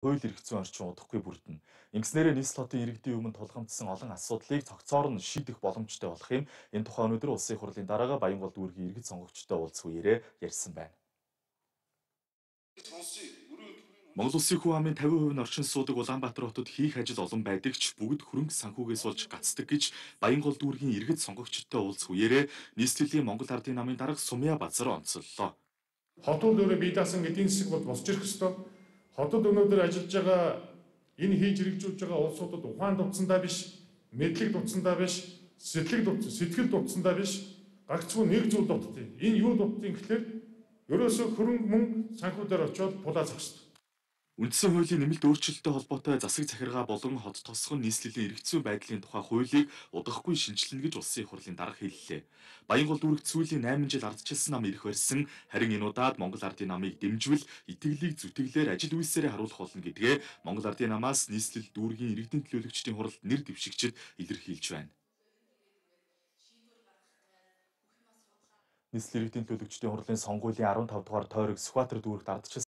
Хууль эрх зүйн орчин удахгүй бүрдэнэ. Ингэснээрээ нийслэл хотын иргэдийн өмнө тулгамдсан олон асуудлыг цогцоор нь шийдэх боломжтой болох юм. Энэ тухай өнөөдөр улсын их хурлын дараагаар Баянголд дүүргийн иргэд сонгогчдод уулзах үеэрээ ярьсан байна. Монгол Улсын хүн амын 50% нь орчин суудаг Улаанбаатар хотод хийх ажил олон байдаг ч бүгд хөрөнгө санхүүгээс болж гацдаг гэж Баянгол дүүргийн иргэд сонгогчдод уулзах үеэрээ нийслэлийн Монгол Ардын намын дарга Сумья Базар онцоллоо. Хотод өөрөө бие даасан эдийн засаг бол босч ирэх ёстой. Хотод өнөөдөр ажиллаж байгаа энэ хийж хэрэгжүүлж байгаа улсуудад ухаан дутсандаа биш, мэдлэг дутсандаа биш, сэтгэл дутсандаа биш, гагцхүү нэг зүйл дутдیں۔ Энэ юу дутдیں гэхлээр ерөөсөө хөрөнгө мөнгө санхүү дээр очиод пулаа зах ёстой. Үндсэн хуулийн нэмэлт өөрчлөлттэй холбоотой засаг захиргаа болон хот тосгон нийслэлийн эрх зүйн байдлын тухай хуулийг удахгүй шинжилнэ гэж улсын их хурлын дарга хэллээ. Баянгол дүүрэгт сүүлийн 8 жил ардчилсан нам ирэх барьсан, харин энэ удаад Монгол Ардын намыг дэмжвэл итгэлийг зүтгэлээр ажил үйлсээрээ харуулах болно гэдгээ Монгол Ардын намаас нийслэл дүүргийн иргэдийн төлөөлөгчдийн хуралд нэр дэвшигчид илэрхийлж байна. Нийслэл иргэдийн төлөөлөгчдийн хурлын сонгуулийн 15 дугаар тойрог Сүхбаатар дүүрэгт ардчилсан